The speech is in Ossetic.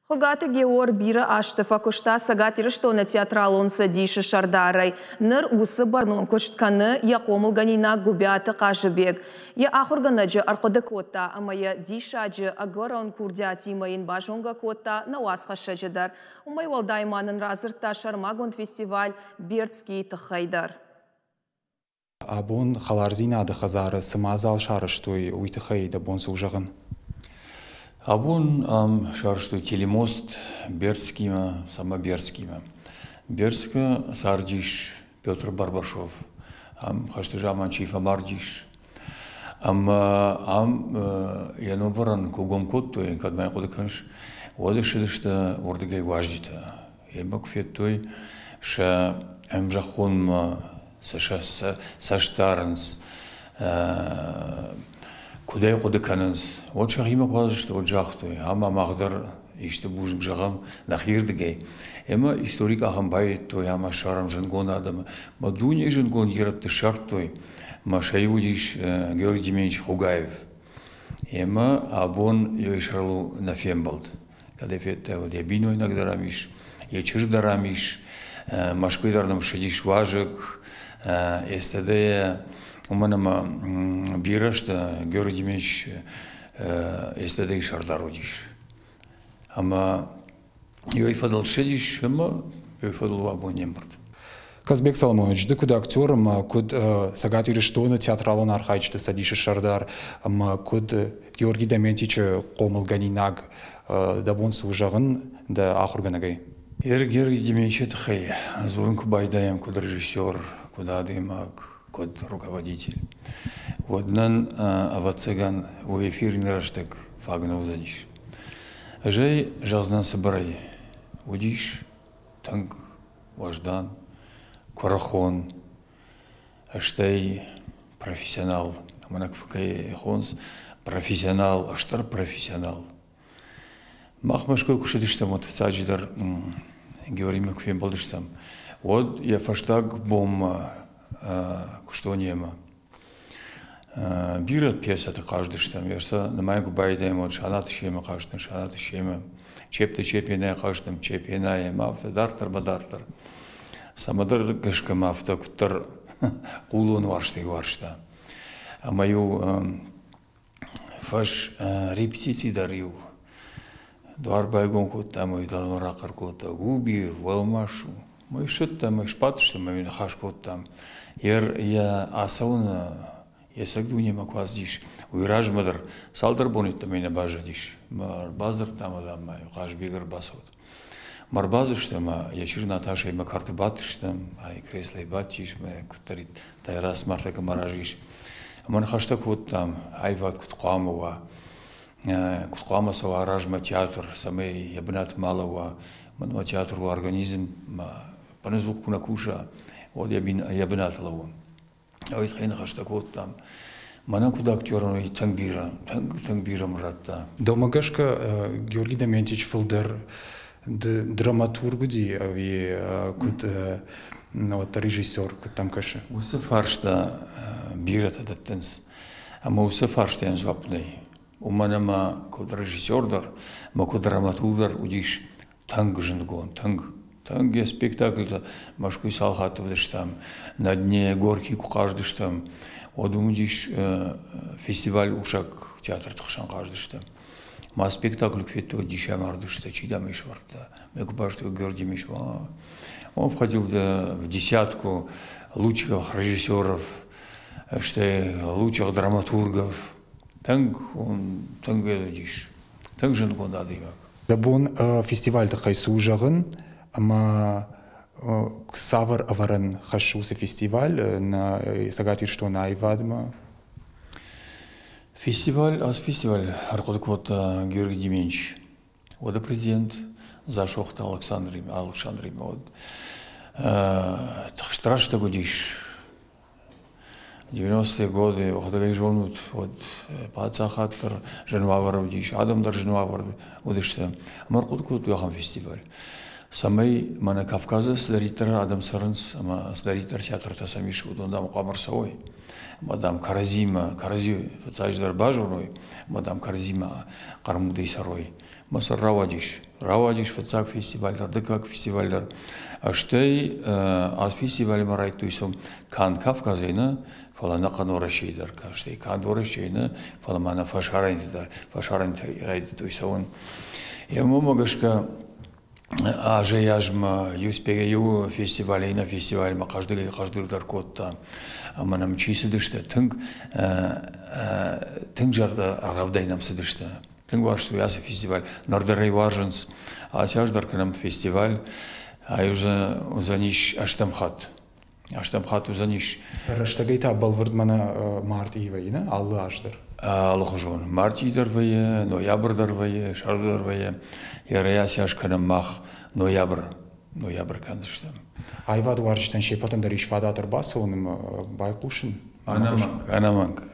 Хуыгаты Геор бирӕ азты фӕкуыста Цӕгат Ирыстоны театралон цӕдисы сӕрдарӕй. Ныр уыцы бӕрнон куыст кӕны йӕ хъомылгӕнинаг Гуыбиаты Хъазыбег. Йӕ ахуыргӕнӕджы ӕрхъуыды кодта ӕмӕ йӕ диссаджы ӕгӕрон курдиатимӕ йын базонгӕ кодта нӕ уацхӕссӕджы дӕр. Уымӕй уӕлдай ма нын радзырдта сӕрмагонд фестиваль Бердскийы тыххӕй дӕр. Абон Хӕлардзинады хӕдзары цы мадзал сарӕзтой, уый тыххӕй дӕ бон цы у зӕгъын? Абон ам сарӕзтой телемост Бердскимӕ, сама Бердскимӕ. Бердскы цардис Петр Барбашов. Ам хӕсты заман чи фӕмардис. Ӕмӕ ам йӕ номвӕрӕн куы гом кодтой, кӕд ма хъуыды кӕныс, уӕд ссыдысты уырдыгӕй уазджытӕ. Емӕ куы федтой сӕ ӕмзӕххонмӕ сӕ цӕст дарынц, куыд ӕй хъуыды кӕнынц. Уӕд сӕхимӕ куы ацыдысты, уӕд загътой, ӕмӕ мах дӕр исты бузныг зӕгъӕм нӕхирдыгӕй. Ӕмӕ историк ахӕм баййӕдтой ӕмӕ ссарӕм зындгонд адӕмы. Мӕ дунейы зындгонд ирӕтты ссардтой. Мӕ сӕ иу уыдис Георгий Демьянович Хугаев. Ӕмӕ абон йӕ сӕрыл нӕ фембӕлд. Кӕд ӕй федтай, уӕд йӕ бинойнаг дӕр ам ис, йӕ чызг дӕр ам ис, Мӕскуыйы дӕр нӕм ссыдис уазӕг, СТД-йӕ, уымӕн ӕмӕ бирӕ сты, Георгий Демьянович СТД-йы сӕрдар уыдис. Ӕмӕ йой фӕдыл ссыдис ӕмӕ йой фӕдыл абон не мбырд. Казбек Соломонович, ды куыд актер ӕмӕ куыд Цӕгат Ирыстоны театралон архайджыты цӕдисы сӕрдар ӕмӕ куыд Георгий Доментичы хъомылгӕнинаг, дӕ бон цы у зӕгъын дӕ ахуыргӕнӕгӕй? Георгий Дементьевичы тыххӕй дзурын куы байдайӕм куыд режиссер, куыд адӕймаг, куыд руководитель, уӕд нын, ӕвӕццӕгӕн, уый эфиры рӕстӕг фаг нӕ уыдзӕнис. Ӕз ӕй зӕгъдзынӕн цыбырӕй. Уыдис тынг уӕздан, куырыхон, стӕй профессионал. Мӕнӕ кӕй хонынц профессионал, стыр профессионал. Мах Мӕскуыйы куы цыдыстӕм, уӕд фыццаджыдӕр Георимӕ куы фембӕлдыстӕм, уӕд йӕ фӕстаг бонмӕ куыстон йемӕ. Бирӕ пьесӕты хъазыдыстӕм, сӕ нымайын куы байдайӕм, уӕд Санаты Семы хъазтӕн, Санаты Семы, Чепты Чепенайы хъазтӕн, Чепенайы ӕмӕ афтӕ дарддӕр ӕмӕ дарддӕр. Цӕмӕдӕр гӕсгӕ мӕ афтӕ куыддӕр хъулон уарзтӕй уарзта. Ӕмӕ-иу фӕс репетици дӕр-иу дуар байгом кодта ӕмӕ дӕлӕмӕ рахъӕр кодта: Губи, уӕлмас у. Мы ссыдтӕм, мы сбадтыстӕм ӕмӕ ныхас кодтам. Йӕ ацӕуыны йе цӕг дунемӕ куы ацыдис, уый размӕ дӕр цалдӕр боны йеддӕмӕ нӕ баззадис. Мӕ ӕрбадзырдтам адӕммӕ, Хъазбег ӕрбацӕуӕд. Мӕ ӕрбадзырдтам ӕмӕ йӕ чызг Наташӕимӕ кӕрты бадтыстӕм, ай креслойы бадтис, мӕ куыддӕрид Тайрас Мартӕ мӕ разы ис. Ӕмӕ ныхӕстӕ кодтам, аивад куыд хъуамӕ уа, куыд хъуамӕ цӕуа размӕ театр, цӕмӕй йӕ бынат ма лӕууа. Мӕнмӕ театр у организм, мӕ ӕнӕдзух куы нӕ куса, уӕд йӕ бынаты лӕууы. Уый тыххӕй ныхӕстӕ кодтам. Мӕнӕн куыд актерӕн уый тынг бирӕ, тынг, тынг бирӕ мын радта. Дӕумӕ гӕсгӕ Георгий Доментич фылдӕр драматург уыди ӕви куыд уӕддӕр режиссер, куыд дӕм кӕсы? Уыцы фарста бирӕтӕ дӕттынц. Ӕмӕ уыцы фарстайӕн дзуапп нӕй. Уымӕн ӕмӕ куыд режиссер дӕр ӕмӕ куыд драматург дӕр уыдис тынг зындгонд, тынг. Тынг йӕ спектакльтӕ Мӕскуыйы цал хатты уыдыстӕм, на дне Горький куы хъазыдыстӕм, уӕд уым уыдис фестиваль Усаг театрты хсӕн хъазыдыстӕм. Ма спектакль куы федтой, дисы амардысты, чи дам ӕй сӕвӕрдта. Мӕ куы базыдтой Георгий Мишва. Он входил в десятку лучших режиссеров, стӕй лучших драматургов. Тынг, он тынг уыдис, тынг зындгонд адӕймаг. Дӕ бон фестивалы тыххӕй цы у зӕгъын ӕмӕ цавӕр ӕвӕрӕн хӕссы уыцы фестиваль нӕ Цӕгат Ирыстоны аивадмӕ? Фестиваль, ацы фестиваль ӕрхъуыды кодта Георгий Деменч, уӕды президент Дзасохты Александримӕ, Александримӕ уӕд. Тыхст рӕстӕг уыдис 90-е годы, уӕхӕдӕг зонут, уӕд паддзахад дӕр зын уавӕры уыдис, адӕм дӕр зын уавӕры уыдысты. Ӕмӕ ӕрхъуыды кодтой ахӕм фестиваль, цӕмӕй мӕнӕ Кавказы цыдӕриддӕр адӕм цӕрынц ӕмӕ цыдӕриддӕр театртӕ сӕм ис, уыдон, дам, хъуамӕ ӕрцӕуой. Ӕмӕ, дам, кӕрӕдзимӕ, кӕрӕдзи фыццаджыдӕр базоной, ӕмӕ, дам, кӕрӕдзимӕ хъӕрмудӕй цӕрой. Мӕ сӕр рауадис. Рауадис фыццаг фестиваль дӕр, дыккаг фестиваль дӕр. Стӕй ацы фестивальмӕ райдыдтой цӕуын канд Кавказӕй нӕ, фӕлӕ ӕнӕхъӕн Уӕрӕсейы дӕр кастӕй. Канд Уӕрӕсейы нӕ, фӕлӕ ма нӕ фӕсарӕнты дӕр, фӕсарӕнтӕй райдыдтой цӕуын. Йӕ уымӕ гӕсгӕ азӕй-азмӕ иу фестиваль иннӕ фестивальмӕ хъӕздыгӕй-хъӕздыгдӕр кодта. Ӕмӕ нӕм чи цыдысты, тынг тынг зӕрдӕргъӕвдӕй нӕм цыдысты. Тынг уарзтой ацы фестиваль. Ныр дӕр ӕй уарзынц. Ацы аз дӕр кӕнӕм фестиваль. Ай уыдзӕнис ӕстӕм хатт. Ӕстӕм хатт уыдзӕнис. Рӕстӕгӕй та бӕлвырд мӕнӕ мартъийы вӕййы, нӕ? Алы аз дӕр. Алыхуызон. Мартъи дӕр вӕййы, ноябрь дӕр вӕййы, сӕрды дӕр вӕййы. Йӕ рӕйацы аз кӕнӕм мах ноябры. Ноябрь кӕндзыстӕм. Аивадуарзджытӕн се ппӕтӕн дӕр ис фадат ӕрбацӕуын ӕмӕ байхъусын? Ӕнӕмӕнг, ӕнӕмӕнг.